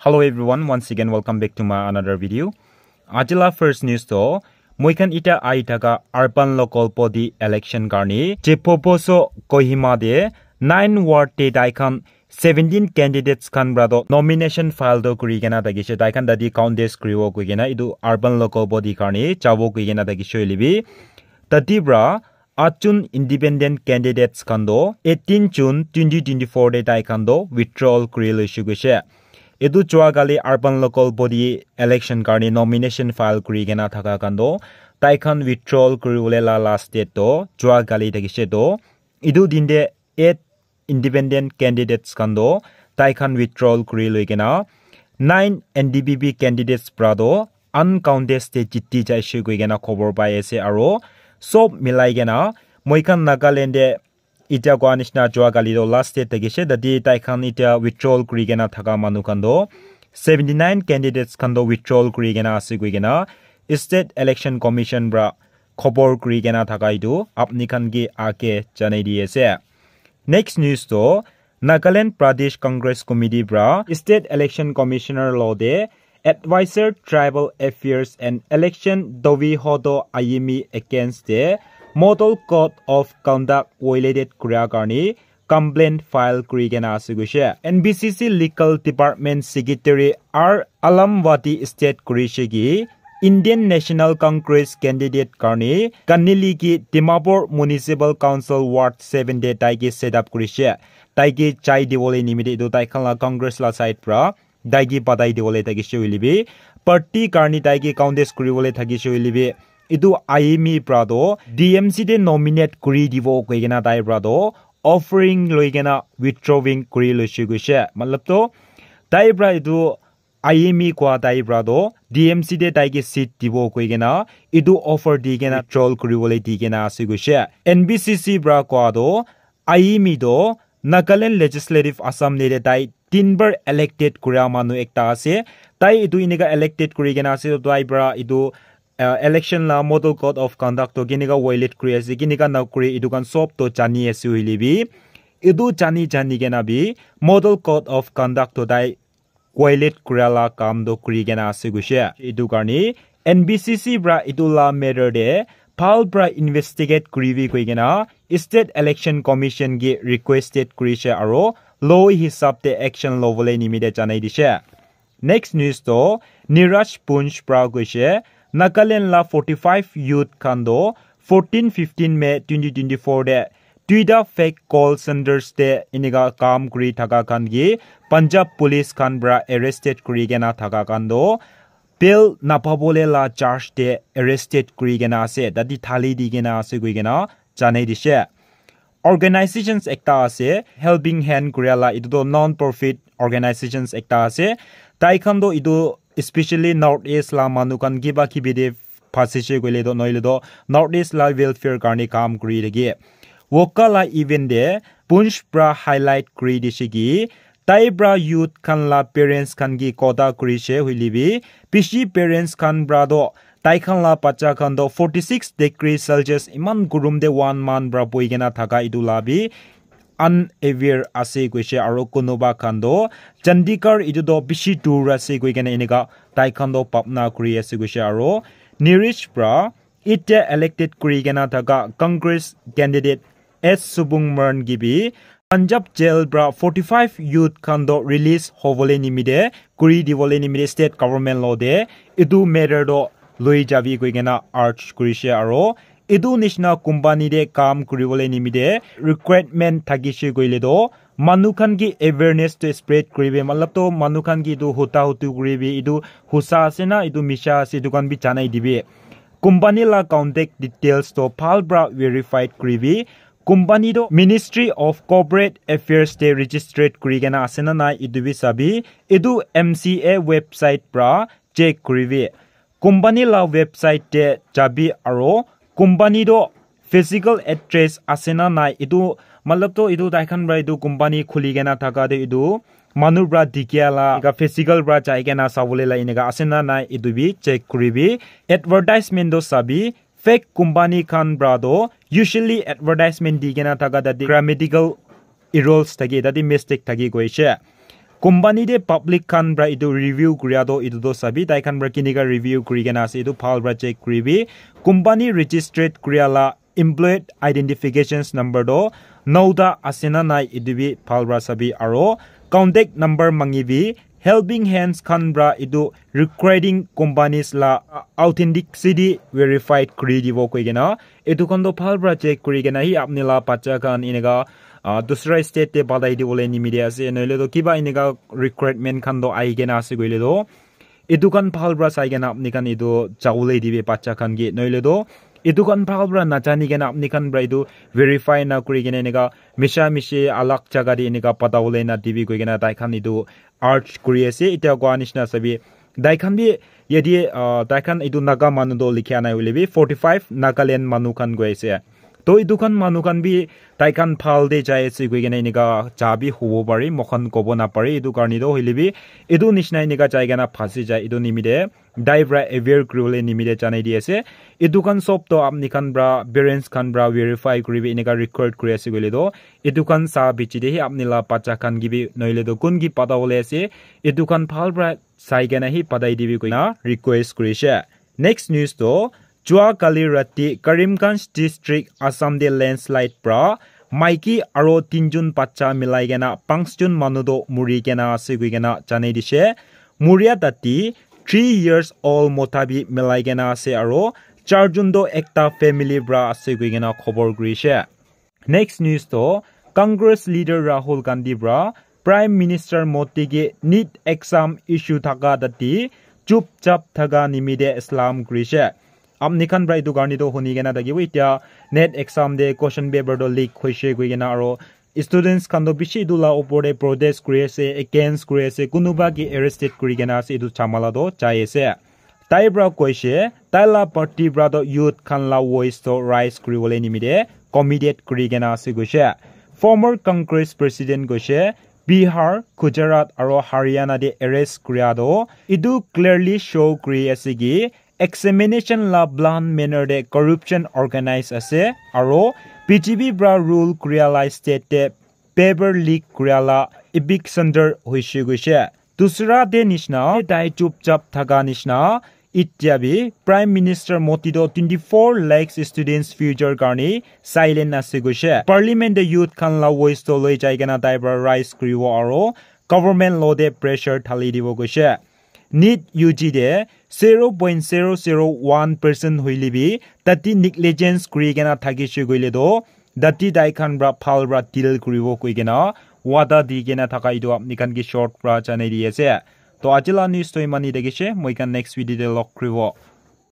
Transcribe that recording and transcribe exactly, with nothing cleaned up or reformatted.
Hello everyone, once again welcome back to my another video. Ajila first news to, moikhan ita ai thaka urban local body election karni Chepoposo Kohima de nine ward te tai khan seventeen candidates khan pra to nomination file to kuri kena thakishe, tai khan tadi contest kuribo koi kena, idu urban local body karni chabo koi kena thakishe hoile bi, tadi pra atchun independent candidates khan to eighteen June twenty twenty-four de tai khan to withdrawal kuri loishe koishe. Etu jua kali urban local body election karni nomination file kuri kena thaka khan to tai khan withdrawal kuri bole la last date to jua kali thakishe to, etu din de eight independent candidates khan to tai khan withdrawal kuri loi kena nine N D P P candidates pra to uncontested jiti jaishe koi kena khobor pai ase. Aro sob milai kena moikhan Nagaland de itia koa nishina jua kali to last date thakishe, tadi tai khan itia withdrawal kuri kena thaka manu khan to seventy nine candidates khan to withdrawal kuri kena ase koi kena State Election Commission pra khobor kuri kena thaka itu apni khan ki ake janai di ase. Next news to Nagaland Pradesh Congress Committee pra State Election Commissioner lo de Advisor Tribal Affairs and Election Dovi Hodo Ayimi against the Model Code of Conduct violated kuria karni complaint file kuri kena ase koishe. N B C C Legal Department Secretary R Alamwadi state kurishe ki Indian National Congress candidate karni Kanili ki Dimapur Municipal Council Ward seven de tai ki set up kurishe. Tai ki chai dibole nimite itu tai khan la Congress la side pra tai ki batai dibole thakishe hoile bi, party karni tai ki contest kuribole thakishe hoile bi, itu Ayimi pra to D M C de nominate kuri dibo koi kena tai pra to offering loi kena withdrawing kuri loishe koishe. Matlab to tai pra itu Ayimi koa tai pra to D M C de tai ki seat dibo koi kena itu offer di kena withdrawal kuribole di kena ase koishe. N B C C pra koa to Ayimi to Nagaland Legislative Assembly de tai tin bar elected kuria manu ekta ase. Tai itu inika elected kuri kena ase, to tai pra itu uh, election la Model Code of Conduct to kinika violate kuri ase, kinika na kuri, itu khan sob to jani ase hoile bi, itu jani jani kena bi Model Code of Conduct to tai violate kuria la kam to kuri kena ase koishe. Itu karni N B C C pra itu la matter de bhal pra investigate kuribi koi kena State Election Commission ki requested kurishe aro law hisab de action lobole nimite janai dishe. Next news to Niraj Punj pra koishe, Nagaland la forty five youth khan to fourteen fifteen May twenty twenty-four de tuita fake call centers de inika kam kuri thaka khan ki Punjab police khan pra arrested kuri kena thaka khan to bail napabole la charge de arrested kuri kena ase, tadi thali di kena ase koi kena janai dishe. Organizations ekta ase, Helping Hand kuria la, itu to non profit organizations ekta ase. Tai khan to itu specially North East la manu khan kiba kibi de phasishe koile to, nohile to North East la welfare karni kam kuri thake. Woka la event de Punj pra highlight kuri dishe ki tai pra youth khan la parents khan ki kotha kurishe hoile bi, bishi parents khan pra to tai khan la bacha khan to forty six degree Celsius iman gurum de one month pra boi kena thaka itu la bi unaware ase koishe, aro kunuba khan to Chandigarh itu to bishi dur ase koi kena inika tai khan to bhabna kuri ase koishe. Aro Niraj pra itia elected kuri kena thaka Congress candidate S Subung Maran ki bi Punjab jail pra forty five youth khan to release hobole nimite, kuri dibole nimite state government lo de itu matter to loi jabi koi kena urge kurishe. Aro itu nishina company de kam kuribole nimite recruitment thakishe koile to manu khan ki awareness to spread kuribi, matlab to manu khan ki itu huta hutu kuribi, itu husa ase na itu misha ase itu khan bi janai dibi. Company la contact details to bhal pra verified kuribi. Company to Ministry of Corporate Affairs te registered kuri kena ase na nai itu bi sabi. Itu M C A website pra check kuribi. Company la website te jabi aro company to physical address ase na nai itu, matlab to itu tai khan pra itu company khuli kena thaka de itu manu pra dikha la, eka physical pra jai kena sabole la eneka ase na nai itu bi check kuribi. Advertisement to sabi, fake company khan pra to usually advertisement di kena thaka tate grammatical errors thake, tate mistake thake koishe. Company te public khan pra etu review kuria toh etu toh sabi tai khan pra kinika review kuri kena ase etu bhal pra check kuribi. Company registered kuria la employee identifications number toh nauta ase na nai etu bi bhal pra sabi aro contact number mangibi. Helping hands khan pra etu recruiting companies la authenticity verified kuri dibo koi kena etu khan toh bhal pra check kuri kena hi apni la bacha khan enika uh, dusra state te padai dibole nimite ase noile toh kiba enika recruitment khan toh ahi kena ase koile toh etu khan bhal pra sai kena apni khan etu jawole dibi bacha khan ke noile toh etu khan bhal pra najani kena apni khan pra etu verify na kuri kena enika misha mishi alag jaga te enika padawole na dibi koi kena tai khan etu urge kuri ase etia koa nishina sabi tai khan bi yate uh, tai khan etu naga manu toh likhia nai hoile bi forty five Nagaland manu khan koi ase. To etu khan manu khan bi tai khan bhal te jai ase koi kena enika ja bi hobo pare moikhan kobo napare etu karne toh hoile bi etu nishina enika jai kena phasi jai etu nimite tai pra aware kuribole nimite janai di ase. Etu khan sob toh apni khan pra parents khan pra verify kuribi enika record kuri ase koile toh etu khan sa bichi te hi apni la bacha khan ke bi noile toh kun ke padawole ase etu khan bhal pra sai kena hi padai dibi koina request kurishe. Next news toh jua kali rati Karimganj district Assam te landslide pra maiki aro tinjun bacha milai kena panchjun manu toh muri kena ase koi kena janai dishe. Muria tati three years old mota bi milai kena ase aro charjun toh ekta family pra ase koi kena khobor kurishe. Next news toh Congress leader Rahul Gandhi pra Prime Minister Modi ke NEET exam issue thaka tati chupchap thaka nimite salam kurishe. Apni khan pra etu karne toh huni kena thakibo etia NEET exam te question paper toh leak hoishe koi kena aro students khan toh bishi etu la opor te protest kuri ase, against kuri ase, kunuba ke arrested kuri kena ase etu jhamala toh jai ase. Tai pra koishe tai la party pra toh youth khan la voice toh raise kuribole nimite committed kuri kena ase koishe. Former Congress president koishe Bihar, Gujarat aro Haryana te arrest kuria toh etu clearly show kuri ase ki examination la blunt manner te corruption organize ase aro B J P pra rule kuria la state te paper leak kuria la epic center hoishe koishe. Dusra te nishina tai chupchap thaka nishina etia bi Prime Minister Modi toh twenty four lakhs students future karne silent ase koishe. Parliament te youth khan la voice toh loi jai kena tai pra raise kuribo aro government law te pressure thali dibo koishe. NEET U G te zero point zero zero one percent hoile bi tati negligence kuri kena thakishe koile toh tati tai khan pra bhal pra deal kuribo koi kena wada di kena thaka etu apni khan ke short pra janai di ase. To aji la news toh imani thakishe, moi khan next video te log kuribo.